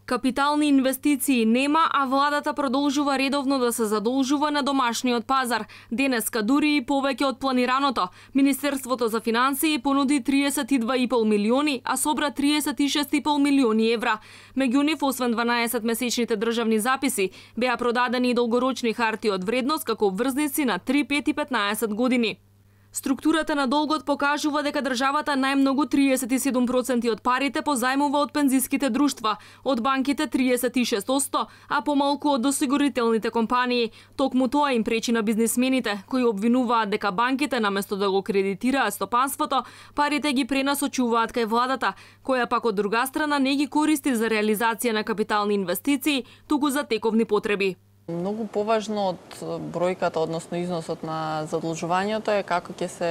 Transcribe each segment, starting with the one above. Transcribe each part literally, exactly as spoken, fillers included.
Капитални инвестиции нема, а владата продолжува редовно да се задолжува на домашниот пазар. Денеска дури и повеќе од планираното. Министерството за финансии понуди триесет и два и пол милиони, а собра триесет и шест и пол милиони евра. Меѓу нив, освен дванаесет месечните државни записи, беа продадени и долгорочни харти од вредност како обврзници на три, пет и петнаесет години. Структурата на долгот покажува дека државата најмногу триесет и седум проценти од парите позајмува од пензиските друштва, од банките триесет и шест проценти, а помалку од осигурителните компании. Токму тоа им пречи на бизнисмените, кои обвинуваат дека банките наместо да го кредитираат стопанството, парите ги пренасочуваат кај владата, која пак од друга страна не ги користи за реализација на капитални инвестиции, туку за тековни потреби. Многу поважно од бројката, односно износот на задолжувањето е како ќе се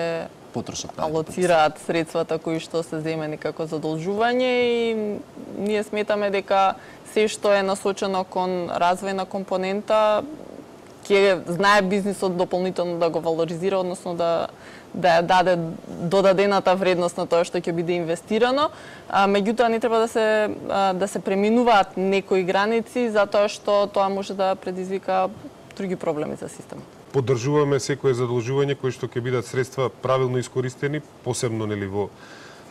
потрошат, алоцираат средствата кои што се земени како задолжување и ние сметаме дека се што е насочено кон развојна компонента ќе знае бизнисот дополнително да го валоризира, односно да да ја даде додадената вредност на тоа што ќе биде инвестирано, а меѓутоа не треба да се да се преминуваат некои граници затоа што тоа може да предизвика други проблеми за системот. Поддржуваме секое задолжување кои што ќе бидат средства правилно искористени, посебно нели во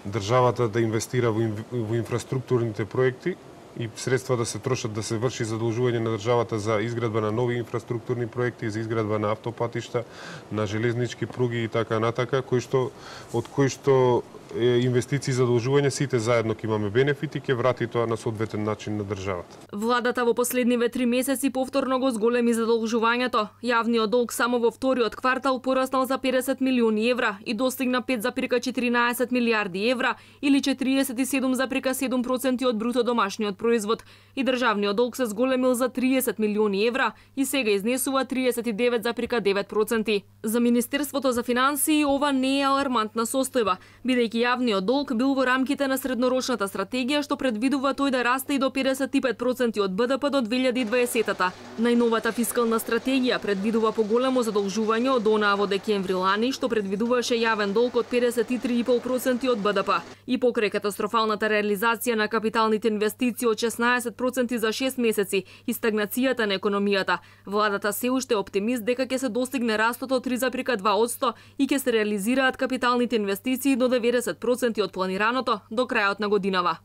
државата да инвестира во, во инфраструктурните проекти и средства да се трошат да се врши задолжување на државата за изградба на нови инфраструктурни проекти, за изградба на автопатишта, на железнички пруги и така натака, кои што од кои што инвестиции и задолжување сите заедно ќе имаме бенефити, ќе врати тоа на соодветен начин на државата. Владата во последниве три месеци повторно го зголеми задолжувањето. Јавниот долг само во вториот квартал пораснал за педесет милиони евра и достигна пет зарем четиринаесет милијарди евра или четириесет и седум зарем седум проценти од бруто домашниот производ. И државниот долг се зголемил за триесет милиони евра и сега изнесува триесет и девет зарем девет проценти. За Министерството за финансии ова не е алармантна состојба, бидејќи јавниот долг бил во рамките на среднорочната стратегија што предвидува тој да расте и до педесет и пет проценти од БДП до две илјади и дваесетата. Најновата фискална стратегија предвидува поголемо задолжување од онаа во декември лани што предвидуваше јавен долг од педесет и три и пол проценти од БДП. И покрај катастрофалната реализација на капиталните инвестиции од шеснаесет проценти за шест месеци и стагнацијата на економијата, владата се уште е оптимист дека ќе се достигне растот од три зарем два проценти и ќе се реализираат капиталните инвестиции до деветдесет проценти од планираното до крајот на годинава.